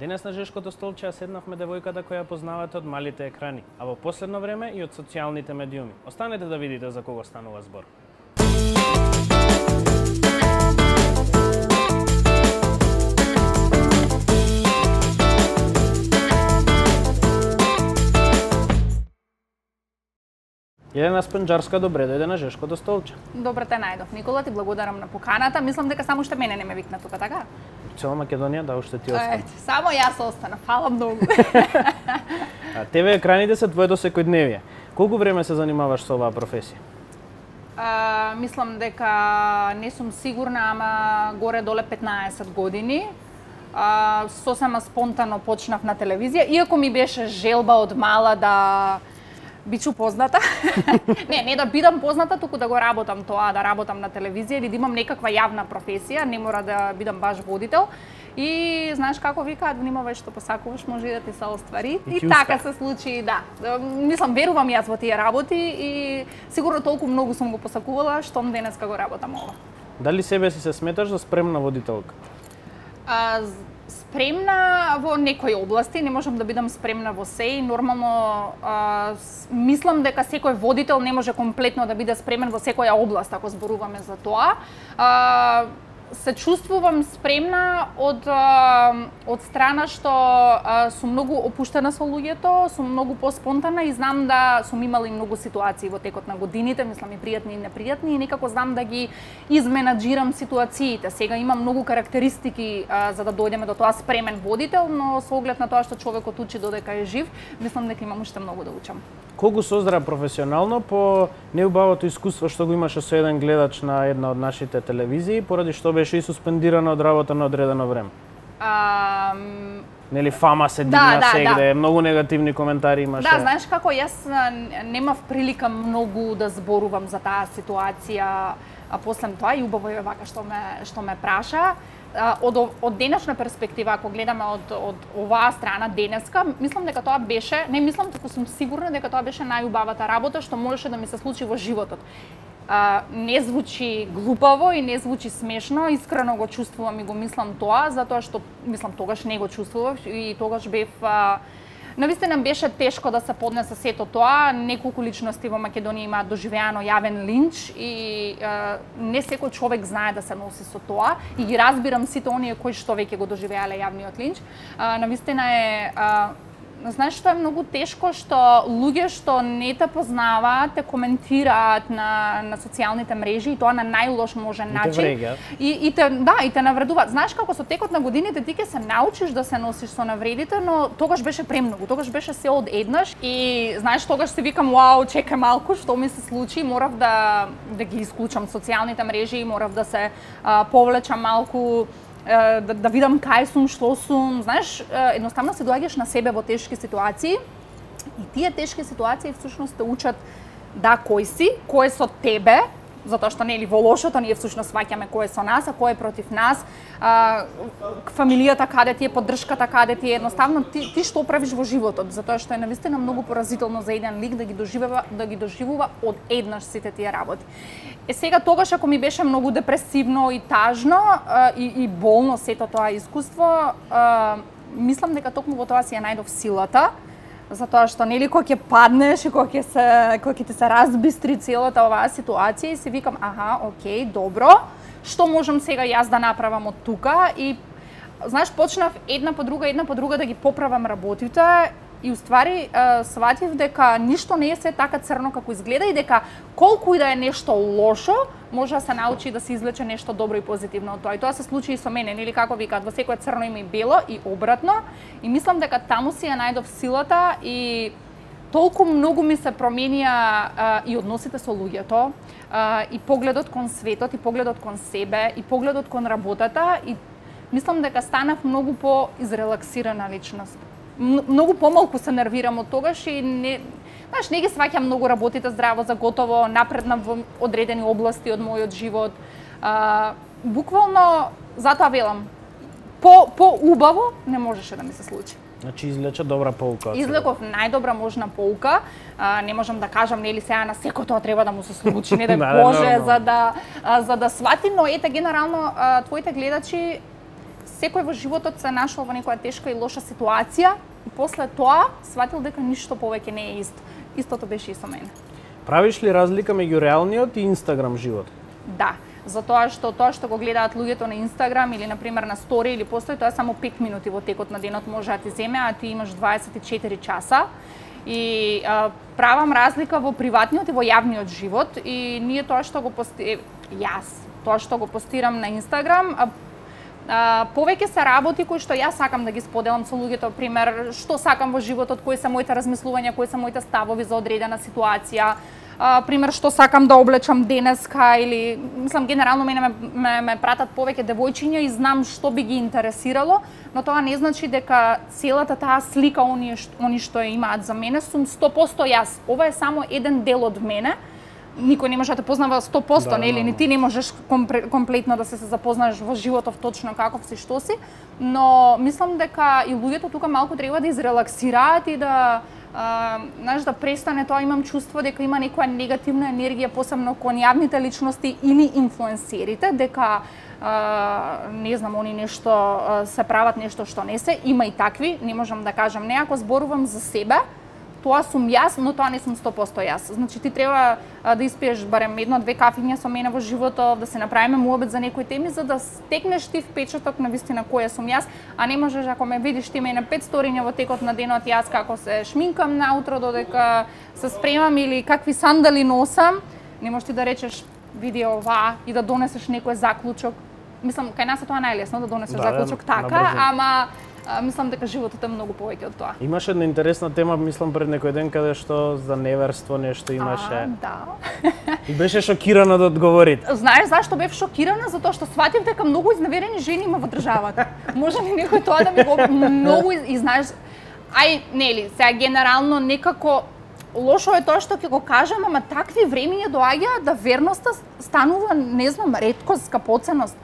Денес на жешкото столче ја седнавме девојката која познавате од малите екрани, а во последно време и од социјалните медиуми. Останете да видите за кого станува збор. Елена Спенџарска, добре дојде на жешкото столче. Добре те најдов, Никола, ти благодарам на поканата. Мислам дека само уште мене не ме викна тука, така? Цела Македонија, да, уште ти остана. Само јас останав, фала многу. А ТВ екраните се твоето секојдневие. Колку време се занимаваш со оваа професија? Мислам дека не сум сигурна, ама горе-доле 15 години. Сосема спонтано почнав на телевизија, иако ми беше желба од мала да бичу позната. не да бидам позната, туку да го работам тоа, да работам на телевизија или да имам некаква јавна професија, не мора да бидам баш водител. И знаеш како викаат, внимавај што посакуваш, може и да ти се оствари. И така се случи, да. Мислам, верувам јас во тие работи и сигурно толку многу сум го посакувала, штом денеска го работам ова. Дали себе си се сметаш за спремна водителка? Спремна во некои области, не можам да бидам спремна во се и нормално мислам дека секој водител не може комплетно да биде спремен во секоја област, ако зборуваме за тоа. Се чувствувам спремна од страна што сум многу опуштена со луѓето, сум многу поспонтана и знам да сум имала и многу ситуации во текот на годините, мислам и пријатни и непријатни, и некако знам да ги изменаџирам ситуациите. Сега имам многу карактеристики за да дојдеме до тоа спремен водител, но со оглед на тоа што човекот учи додека е жив, мислам дека имам уште многу да учам. Колку создрав професионално по неубавото искуство што го имаше со еден гледач на една од нашите телевизии, поради што беше и суспендирана од работа на одредено време? Нели фама се дигна сегде, многу негативни коментари имаше. Да, знаеш како, јас немав прилика многу да зборувам за таа ситуација, а после тоа и убаво е вака што ме праша. Од денешна перспектива, ако гледаме од оваа страна денеска, мислам дека тоа беше, не мислам, туку сум сигурна дека тоа беше најубавата работа што можеше да ми се случи во животот. Не звучи глупаво и не звучи смешно, искрено го чувствувам и го мислам тоа, затоа што мислам тогаш не го чувствував и тогаш бев навистина беше тешко да се поднесе сето тоа. Неколку личности во Македонија имаат доживеано јавен линч и не секој човек знае да се носи со тоа и ги разбирам сите оние кои што веќе го доживеале јавниот линч. Навистина е знаеш што е многу тешко, што луѓе што не те познаваат те коментираат на социјалните мрежи и тоа на најлош можен начин. И те навредуваат. Знаеш како со текот на годините ти ќе се научиш да се носиш со навредите, но тогаш беше премногу, тогаш беше се одеднаш и знаеш тогаш си викам вау, чекај малку што ми се случи, морав да ги исклучам социјалните мрежи, морав да се повлечам малку, да видам кај сум, што сум, знаеш, едноставно се доаѓаш на себе во тешки ситуации и тие тешки ситуации всушност те учат да кој си, кој е со тебе, затоа што нели во лошото ние всушност сваќаме кој е со нас, а кој е против нас, фамилијата каде ти е, поддршката каде ти е, едноставно ти што правиш во животот, затоа што е навистина многу поразително за еден лик да ги доживува од еднаш сите тие работи. Сега тогаш ако ми беше многу депресивно и тажно и болно сето тоа искуство, мислам дека токму во тоа си ја најдов силата, затоа што нели кога ќе паднеш и кога ќе ти се разбистри целата оваа ситуација и си викам окей, добро, што можам сега јас да направам од тука и знаеш почнав една по друга да ги поправам работите и уствари сватив дека ништо не е се така црно како изгледа и дека колку и да е нешто лошо, може да се научи да се извлече нешто добро и позитивно од тоа. И тоа се случи и со мене, нели како викаат, во секое црно има и бело и обратно. И мислам дека таму си ја најдов силата и толку многу ми се променија и односите со луѓето, и погледот кон светот, и погледот кон себе, и погледот кон работата и мислам дека станав многу по-изрелаксирана личност. Многу помалку се нервирам од тогаш и не ги сваќам многу работите здраво за готово, напреднав во одредени области од мојот живот. Буквално затоа велам, по-убаво не можеше да ми се случи. Значи извлече добра поука. Извлеков најдобра можна поука. Не можам да кажам нели сега на секој тоа треба да му се случи, не Боже, за да свати, но ете генерално твоите гледачи секој во животот се нашол во некоја тешка и лоша ситуација и после тоа сватил дека ништо повеќе не е исто. Истото беше и со мене. Правиш ли разлика меѓу реалниот и Инстаграм живот? Да, затоа што го гледаат луѓето на Инстаграм или на пример на стори или постои, тоа е само 5 минути во текот на денот може да ти земе, а ти имаш 24 часа. И правам разлика во приватниот и во јавниот живот и ние тоа што го тоа што го постирам на Инстаграм, повеќе се работи кои што јас сакам да ги споделам со луѓето, пример, што сакам во животот, кои се моите размислувања, кои се моите ставови за одредена ситуација, пример, што сакам да облечам денеска или, мислам, генерално мене ме пратат повеќе девојчиња и знам што би ги интересирало, но тоа не значи дека целата таа слика они што имаат за мене сум 100% јас. Ова е само еден дел од мене. Никој не може да те познава 100%, нели? Ни ти не можеш комплетно да се запознаеш во животов точно каков си, што си, но мислам дека и луѓето тука малку треба да изрелаксираат и да да престане тоа, имам чувство дека има некоја негативна енергија, посебно кон јавните личности или инфлуенсерите, дека не знам, они нешто се прават нешто што не се, има и такви, не можам да кажам не, ако зборувам за себе, тоа сум јас, но тоа не сум 100% јас. Значи ти треба да испиеш барем 1-2 кафиња со мене во животот, да се направиме муабет за некои теми за да стекнеш ти впечаток на вистина која сум јас, а не можеш ако ме видиш ти ме на 5 сториња во текот на денот јас како се шминкам наутро додека се спремам или какви сандали носам, не можеш ти да речеш види ова и да донесеш некој заклучок. Мислам кај нас е тоа најлесно да донесеш заклучок така, ама мислам дека животот е многу повеќе од тоа. Имаше една интересна тема, мислам пред некој ден каде што за неверство нешто имаше. Да. И беше шокирана да одговорите. Знаеш зашто бев шокирана? Затоа што сватив дека многу изневерени жени има во државата. Може ли некој тоа да ми го многу и знаеш, нели, сега генерално некако лошо е тоа што ќе го кажам, ама такви времиња доаѓаат да верноста станува, не знам, реткост, скапоценост.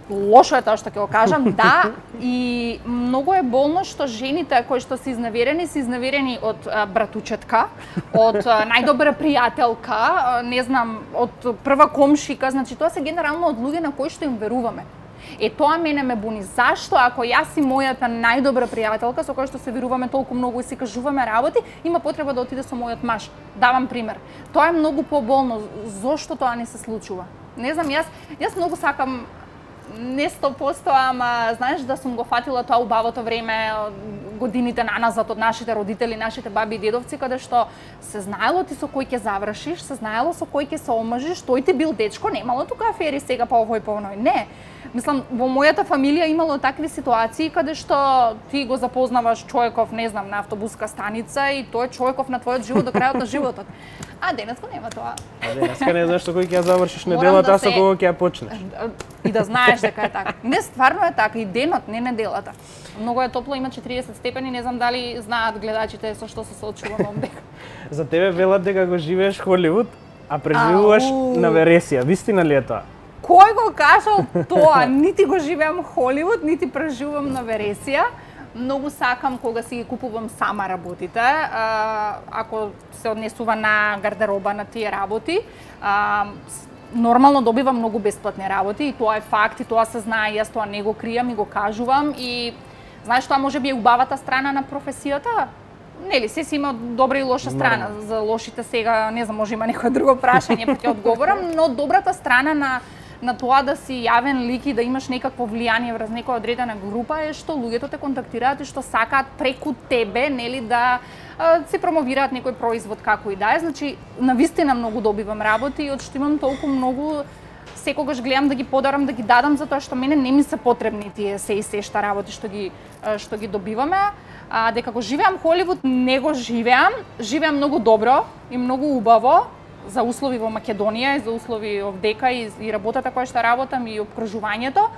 Лошо е тоа што ќе го кажам, да, и многу е болно што жените кои што се изневерени од братучетка, од најдобра пријателка, не знам, од прва комшика, значи тоа се генерално од луѓе на кои што им веруваме. Тоа мене ме буни. Зашто ако јас и мојата најдобра пријателка со која што се веруваме толку многу и си кажуваме работи, има потреба да отиде со мојот маж. Давам пример. Тоа е многу поболно. Зошто тоа не се случува? Не знам, јас многу сакам не 100%, ама знаеш да сум го фатила тоа убавото време, годините наназад од нашите родители, нашите баби и дедовци, каде што се знаело ти со кој ќе завршиш, се знаело со кој ќе се омажиш, тој ти бил дечко, немало тука афери сега па овој па оној. Не. Мислам, во мојата фамилија имало такви ситуации каде што ти го запознаваш човеков, не знам, на автобуска станица и тој човеков на твојот живот до крајот на животот. А денеска нема тоа. А денеска не знаеш со кој ќе ја завршиш неделата, а со кого ќе ја почнеш. И да знаеш дека е така. Не, стварно е така, и денот, не неделата. Многу е топло, има 40 степени, не знам дали знаат гледачите со што се соочувам овдека. За тебе велат дека го живееш Холивуд, а преживуваш на вересија. Вистина ли е тоа? Кој го кажал тоа? Нити го живеам Холивуд, нити преживувам на вересија. Многу сакам кога си ги купувам сама работите, ако се однесува на гардероба на тие работи. Нормално добивам многу бесплатни работи и тоа е факт и тоа се знае, јас тоа не го кријам и го кажувам и знаеш тоа можеби е убавата страна на професијата. Нели, се си има добра и лоша страна. За лошите сега, не знам, може има некој друго прашање па ќе одговорам, но добрата страна на тоа да си јавен лик и да имаш некакво влијание врз некоја одредена група е што луѓето те контактираат и што сакаат преку тебе, нели, да се промовираат некој производ како и да е. Значи, навистина многу добивам работи и од што имам толку многу секогаш гледам да ги подарам, да ги дадам затоа што мене не ми се потребни тие се и сешта работи што ги добиваме. Дека го живеам Холивуд, не го живеам. Живеам многу добро и многу убаво за услови во Македонија и за услови овдека и работата која што работам и обкружувањето.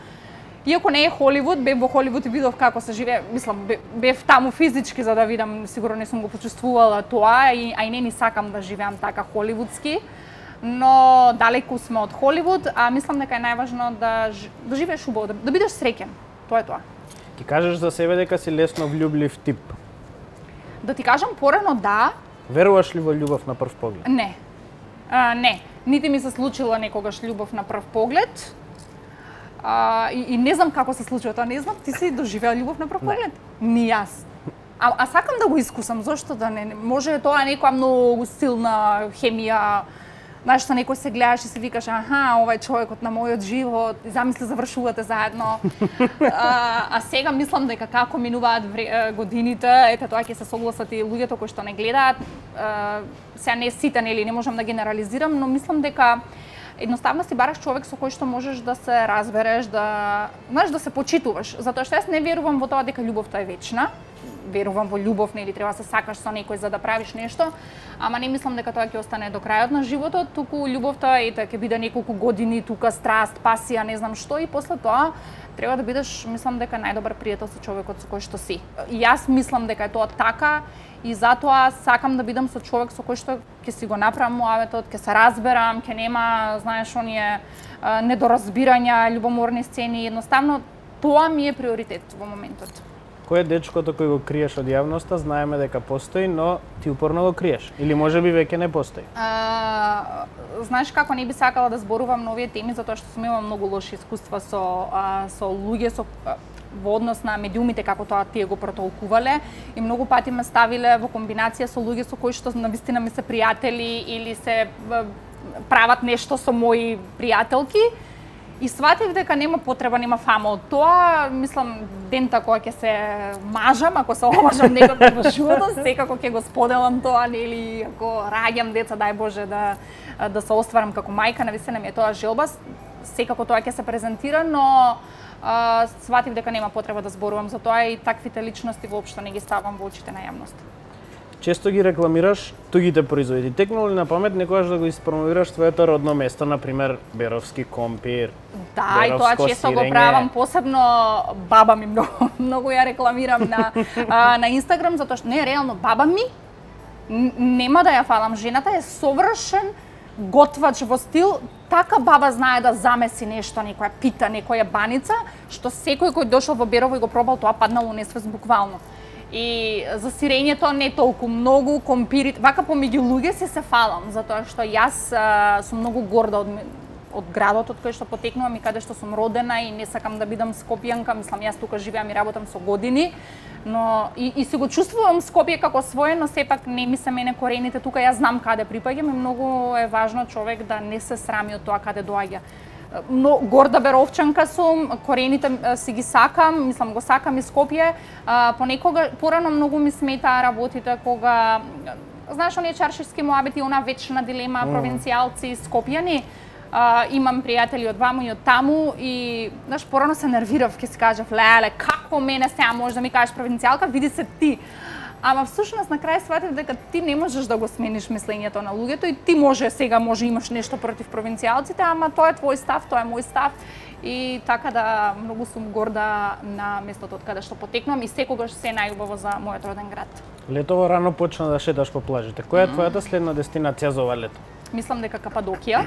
Иако не е Холивуд, бев во Холивуд и видов како се живее, мислам, бев таму физички за да видам, сигурно не сум го почувствувала тоа, а и не ни сакам да живеам така холивудски, но далеку сме од Холивуд, а мислам дека е најважно да живееш убаво, да бидеш среќен. Тоа е тоа. Ти кажеш за себе дека си лесно влюблив тип. Да ти кажам порано да. Веруваш ли во љубов на прв поглед? Не. Не. Нити ми се случила некогаш љубов на прв поглед. И не знам како се случува тоа, не знам, ти си доживеа љубов на прв поглед? Ни јас. А сакам да го искусам, зошто да не? Може тоа некоја многу силна хемија, знаеш, што некој се гледаш и се викаш, аха, ова е човекот на мојот живот, и замисли завршувате заедно. А сега мислам дека како минуваат годините, ете тоа ќе се согласат и луѓето кои што не гледаат, сега не сите, нели, не можам да генерализирам, но мислам дека едноставно си бараш човек со кој што можеш да се разбереш, да, знаеш, да се почитуваш, затоа што јас не верувам во тоа дека љубовта е вечна. Верувам во љубов, нели, треба да се сакаш со некој за да правиш нешто, ама не мислам дека тоа ќе остане до крајот на животот, туку љубовта ќе биде неколку години тука, страст, пасија, не знам што, и после тоа треба да бидеш, мислам дека најдобар пријател со човекот со кој што си. И јас мислам дека е тоа така и затоа сакам да бидам со човек со кој што ќе си го направам муаветот, ќе се разберам, ќе нема, знаеш, оние недоразбирања, љубоморни сцени, едноставно тоа ми е приоритет во моментот. Кој е дечкото кој го криеш од јавноста, знаеме дека постои, но ти упорно го криеш? Или можеби веќе не постои? Знаеш како, не би сакала да зборувам на овие теми, затоа што сум имала многу лоши искуства со луѓе, во однос на медиумите, како тоа тие го протолкувале, и многу пати ме ставиле во комбинација со луѓе со кои што навистина ми се пријатели или се прават нешто со мои пријателки. И сватив дека нема потреба, нема фама од тоа. Мислам, дента кога ќе се мажам, ако се омажам некој во животот, секако ќе го споделам тоа, нели, ако раѓам деца, дај Боже да се остварам како мајка, навистина ми е тоа желба, секако тоа ќе се презентира, но сватив дека нема потреба да зборувам за тоа и таквите личности воопшто не ги ставам во очите на јавност. Често ги рекламираш тугите производи. Текнало ли на памет некогаш да го испромовираш своето родно место, например Беровски компир? Да, и тоа често го правам, посебно баба ми многу ја рекламирам на Инстаграм, затоа што не, реално баба ми нема да ја фалам, жената е совршен готвач во стил, така баба знае да замеси нешто, некоја пита, некоја баница, што секој кој дошол во Берово и го пробал, тоа паднало у несвест буквално. И за сирењето не толку многу, компирите, вака помеѓу луѓе се фалам, затоа што јас сум многу горда од градот од кој што потекнувам и каде што сум родена и не сакам да бидам скопјанка, мислам јас тука живеам и работам со години, но и се го чувствувам Скопје како свое, но сепак не ми се мене корените тука, јас знам каде припаѓам и многу е важно човек да не се срами од тоа каде доаѓа. Но горда беровчанка сум, корените си ги сакам, мислам го сакам и Скопје. Понекога порано многу ми сметаа работите кога знаеш оние чаршишки муабети, она вечна дилема провинцијалци скопјани. Имам пријатели од ваму и од таму и знаеш порано се нервирав, ќе си кажав леле како мене сега можеш да ми кажеш провинцијалка, види се ти. Ама всушност на крај сватив дека ти не можеш да го смениш мислењето на луѓето и ти може имаш нешто против провинцијалците, ама тоа е твој став, тоа е мој став и така да многу сум горда на местото од каде што потекнувам и секогаш се најубаво за мојот роден град. Летово рано почна да шеташ по плажите. Која е твојата следна дестинација за ова лето? Мислам дека Кападокија.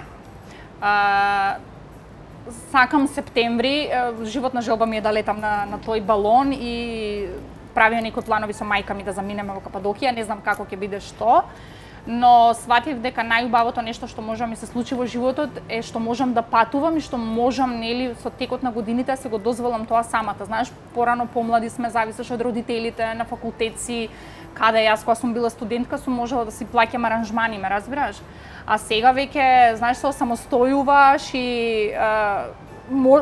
Сакам септември, животна желба ми е да летам на тој балон и правиме некои планови со мајка ми да заминеме во Кападокија, не знам како ќе биде што, но сватив дека најубавото нешто што може да ми се случи во животот е што можам да патувам и што можам, нели, со текот на годините да се го дозволам тоа самата. Знаеш, порано помлади сме, зависеш од родителите, на факултет си, каде јас кога сум била студентка сум можела да си плаќам аранжмани, ме разбираш? А сега веќе, знаеш, се самостојуваш и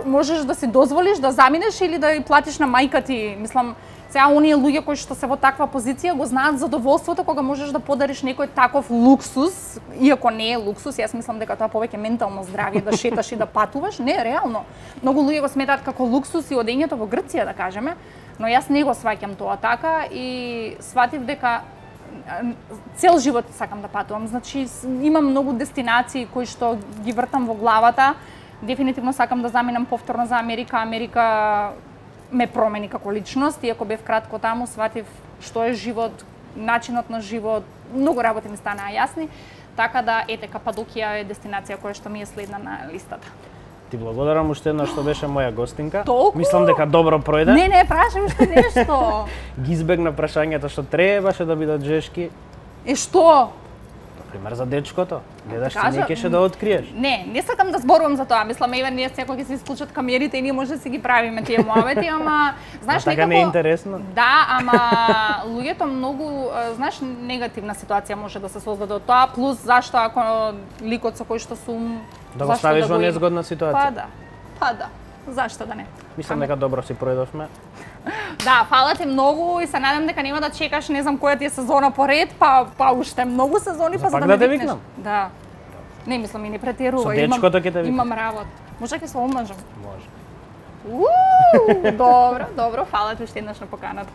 можеш да си дозволиш да заминеш или да ја платиш на мајка ти. Мислам, сега оние луѓе кои што се во таква позиција го знаат задоволството кога можеш да подариш некој таков луксус, иако не е луксус, јас мислам дека тоа повеќе ментално здравје да шеташ и да патуваш, не, реално. Многу луѓе го сметаат како луксус и одењето во Грција, да кажеме, но јас не го сваќам тоа така и сватив дека цел живот сакам да патувам. Значи имам многу дестинации кои што ги вртам во главата. Дефинитивно сакам да заминам повторно за Америка. Америка ме промени како личност, иако бев кратко таму, сватив што е живот, начинот на живот, многу работи ми станаа јасни, така да ете Кападокија е дестинација која што ми е следна на листата. Ти благодарам уште еднаш што беше моја гостинка. Толку? Мислам дека добро пројде. Не, прашам уште нешто. Ги избегна прашањата што требаше да бидат жешки. Што? Например, за дечкото. Гледаш, ти Кажа, не кеше да откриеш. Не сакам да зборувам за тоа. Мислам, еве ние секој ќе се исклучат камерите и ние може да си ги правиме тие муавети, ама знаеш така некако не е интересно. Да, ама луѓето многу, знаеш, негативна ситуација може да се создаде од тоа, плюс зашто ако ликот со кој што сум Да го ставиш во незгодна ситуација. Па да. Зашто да не? Мислам дека добро си пројдовме. Да, фала ти многу и се надам дека нема да чекаш не знам која ти е сезона поред, па уште многу сезони па за да ме викнеш. викнам? Да. Не мислам и не претерувам. Со дечкото ќе те викнам. Имам работа. Може ќе се омажам. Може. Добро, фала ти уште еднаш на поканата.